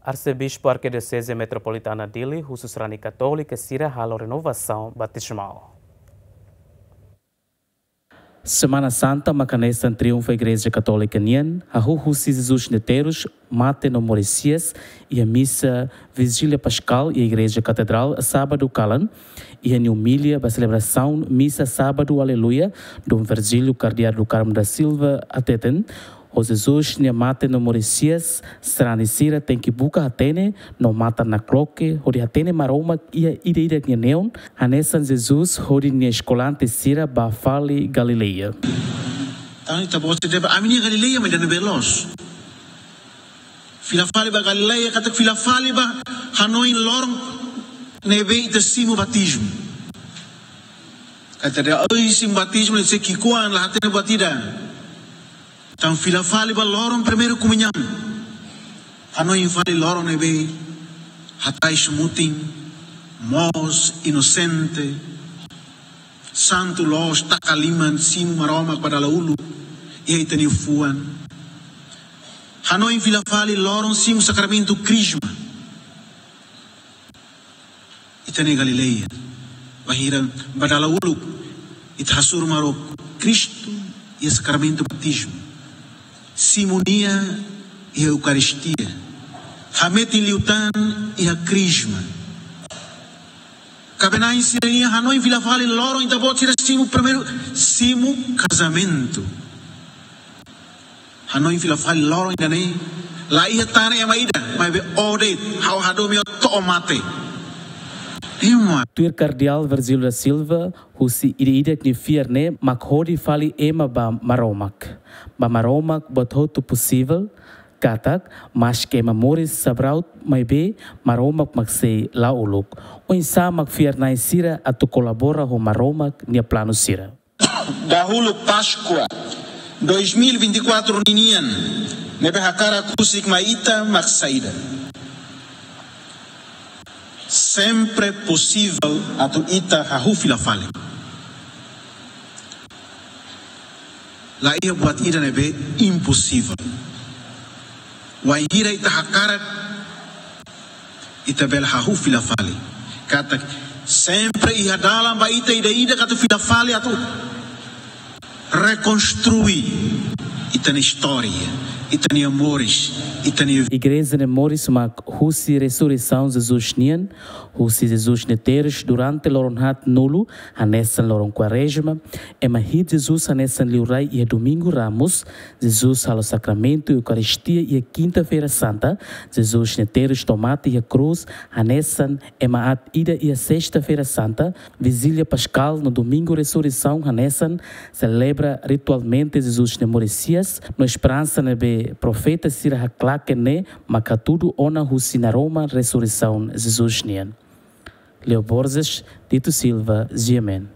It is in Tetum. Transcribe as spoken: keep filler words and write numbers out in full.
Arsebispu Arkidioseze Metropolitana Dili husu sarani katólika sira halo renovasaun batizmál. Semana Santa maka hanesan triunfu Igreja Katólika nian, hahú husi Jesus nia terus, mate no moris hi'as, iha misa Vigília Paskál iha Igreja Katedrál, sábadu kalan, iha nia omilia ba selebrasaun misa sábadu Aleluia, Dom Virgílio Kardeál do Carmo da Silva hateten, ho Jesus nia mate no moris hi'as, sarani sira tenke buka hatene no matan nakloke, hodi hatene Maromak iha ida-idak nia neon, hanesan Jesus hodi nia eskolante sira bá fali Galileia. Entaun, ita-boot sira dehan, ami-nia Galileia mak ida ne'ebé loos. Fila fali ba Galileia, katak fila fali ba hanoin loron ne'ebé ita simu batizmu. Katak ita dehan, oi, simu batizmu, ne'e sei ki'ikoan, la hatene buat ida. Entaun fila fali ba loron primeiru komuñaun. Hanoin fali loron ne'ebé hatais mutin, moos, inosente, santu loos, taka liman, simu Maromak ba dala uluk iha ita-nia fuan. Hanoin fila fali loron simu sakramentu Krisma. Ita-nia Galileia, bainhira ba dala uluk ita hasoru Maromak Kristu iha sakramentu batizmu, simu Nia iha Eukaristia, hametin liután iha Krisma. Kaben-na'in sira-nian hanoin fila fali loron ita-boot sira simu primeiru, simu kazamentu. Hanoin fila fali loron ida-ne'e, la iha tan ema ida, maibé ó de'it, ha'u hadomi ó to'o mate. Ema. Tuir Kardeál Virgílio da Silva, husi ida-idak nia fiar ne'e mak hodi fali ema ba Maromak. Ba Maromak buat hotu posivel, katak, maske ema moris sabraut, maibé Maromak mak sei la'o uluk. Oinsá mak fiar-na'in sira atu kolabora ho Maromak nia planu sira? Dahuluk Páskua dois mil e vinte e quatro ninian, ne'ebé hakarak husik mai ita mak saida? Sempre posivel atu ita hahú fila fali. La iha buat ida ne'ebé imposivel. Wainhira ita hakarak, ita bele hahú fila fali. Katak sempre iha dalan ba ita ida-idak atu fila fali atu rekonstrui ita-nia istória, ita-nia moris, ita-nia... Igreja nia moris mak husi resureisaun Jesus nian, husi Jesus nia terus durante loron haat nulu, hanesan loron Kuarezma, ema hi'it Jesus hanesan liurai iha Domingu Ramus, Jesus halo sakramentu Eukaristia iha Kinta-feira Santa, Jesus nia terus to'o mate iha krús, hanesan ema aat ida iha Sesta-feira Santa, Vigília Paskál no Domingu Resureisaun hanesan selebra ritualmente Jesus nia moris hi'as, no esperansa ne'ebé profeta sira haklaken ne'e mak hatudu ona husi naroman resureisaun Jesus nian. Leo Borges, Tito Silva, G M N.